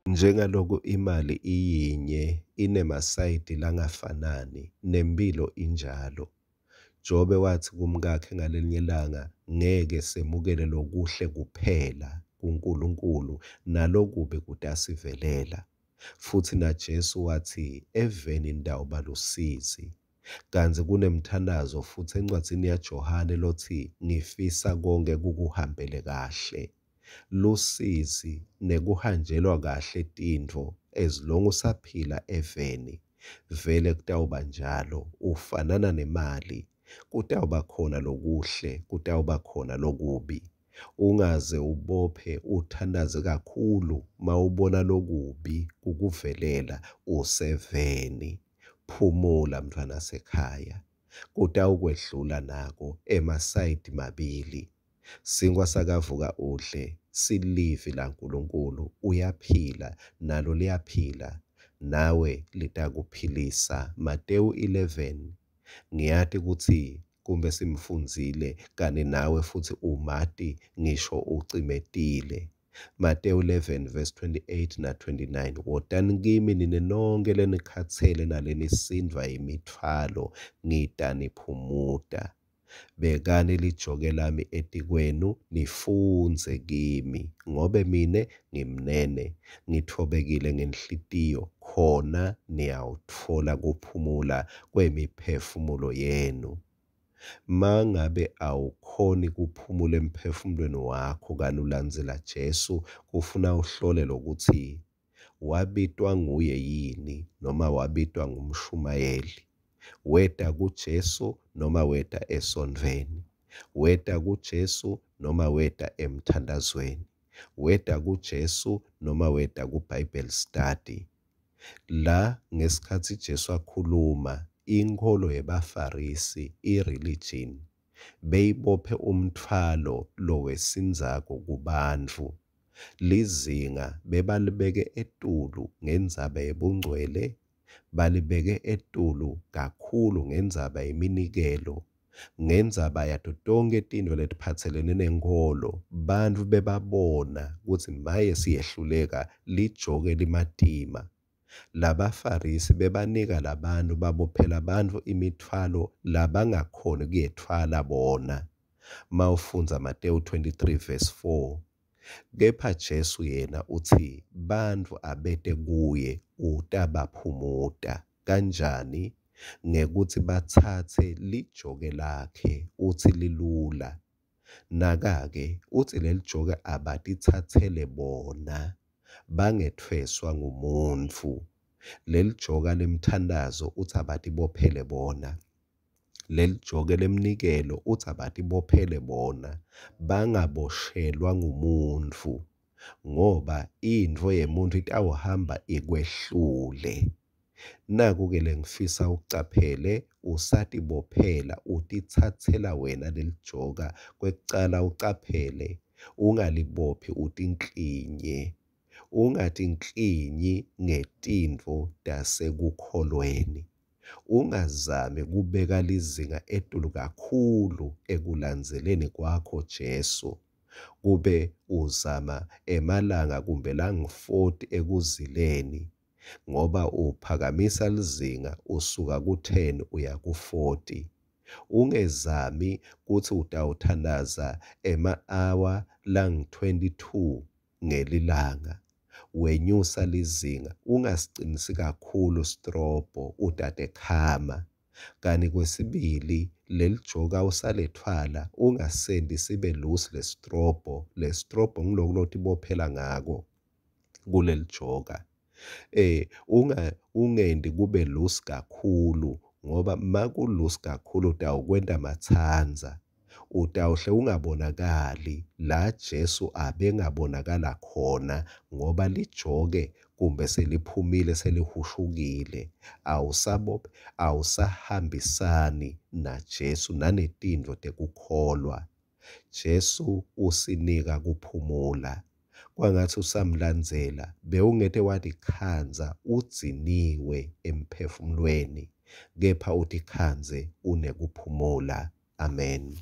Njengaloku imali iyinye inemasayidi langafanani, nemphilo injalo. Jobe watsi kumkakhe ngalelinye lilanga, ngeke semukele lokuhle kuphela kuNkulunkulu, nalokubi kutasivelela. Futsi naJesu watsi, eveni nitawuba lusizi. Kantsi kunemthandazo futsi encwadzini yaJohane lotsi, ngifisa konkhe kukuhambele kahle. Lusizi nekuhanjelwa kahle tintfo as long usaphila eveni, vele kutawuba njalo, ufanana nemali, kutawuba khona lokuhle, kutawuba khona lokubi. Ungaze ubophe uthandaze kakhulu mawubona lokubi kukuvelela useveni. Phumula mntfwanasekhaya, kutawukwedlula nako emasayidi mabili. Sinkwa sakavuka udle silivi laNkulunkulu, uyaphila nalo liyaphila nawe litakuphilisa. Matewu 11 ngiyati kutsi kumbe simfundzile kani nawe futsi umati ngisho ucimetile. Matewu 11 verse 28 na 29, wotani kimi nine nonke lenikhatsele nalenisindvwa yimitfwalo, ngitaniphumuta. Bekani lijoke lami etikwenu, nifundze kimi, ngobe mine ngimnene, ngitfobekile ngenhlitiyo, khona niyawutfola kuphumula kwemiphefumulo yenu. Mangabe awukhoni kuphumula emphefumulweni wakho kani ulandzela Jesu, kufuna uhlole lokuthi wabitwa nguye yini noma wabitwa ngumshumayeli. Weta kuJesu noma weta esontfweni. Weta kuJesu noma weta emthandazweni. Weta kuJesu noma weta ku-Bible study. La ngesikhatsi Jesu akhuluma, inkholo yebaFarisi, i-religion, beyibophe umtfwalo lowesindzako kubantfu. Lizinga bebalibeke etulu ngendzaba yebungcwele, balibeke etulu kakhulu ngendzaba yeminikelo, ngendzaba yato tonkhe tintfo letiphatselene nenkholo. Bantfu bebabona kutsi maye siyehluleka, lijoke limatima. LabaFarisi bebanika labantu, babophela bantfu imitfwalo labangakhoni kuyetfwala bona. Mawufundza Matewu 23 verse 4. Kepha Jesu yena utsi bantfu abete kuye utabaphumuta. Kanjani? Ngekutsi batsatse lijoke lakhe, utsi lilula. Naka-ke, utsi lelijoke abatitsatsele bona, bangetfweswa ngumuntfu. Lelijoka lemthandazo utsi abatibophele bona. Lelijoke lemnikelo utsi abatibophele bona, bangaboshelwa ngumuntfu, ngoba intfo yemuntfu itawuhamba ikwehlule. Naku-ke lengifisa ucaphele, usatibophela, utitsatsela wena lelijoka. Kwekucala ucaphele, ungalibophi utinklinye. Ungatinklinyi ngetintfo tasekukholweni. Ungazami kubeka lizinga etulu kakhulu ekulandzeleni kwakho Jesu, kube uzama emalanga kumbe langu-40 ekuzileni, ngoba uphakamisa lizinga usuka ku-10 uya ku-40. Ungezami kutsi utawuthandaza ema-hour langu-22 ngelilanga, wenyusa lizinga, ungasicinisi kakhulu sitrobho, utatekhama. Kani kwesibili, lelijoka usalethwala, ungasenti sibe loose lesitrobho. Lesitrobho ngiloku lotibophela ngako kulelijoka. Ungenti kube loose kakhulu, ngoba maku-loose kakhulu utawukwenta matsandza. Utawuhle ungabonakali la Jesu abengabonakala khona, ngoba lijoke kumbe seliphumile selihushukile, awusahambisani naJesu nanetintfo tekukholwa. Jesu usinika kuphumula. Kwangatsi usamlandzela, bewungete watikhandza udziniwe emphefumulweni, kepha utikhandze unekuphumula. Amen.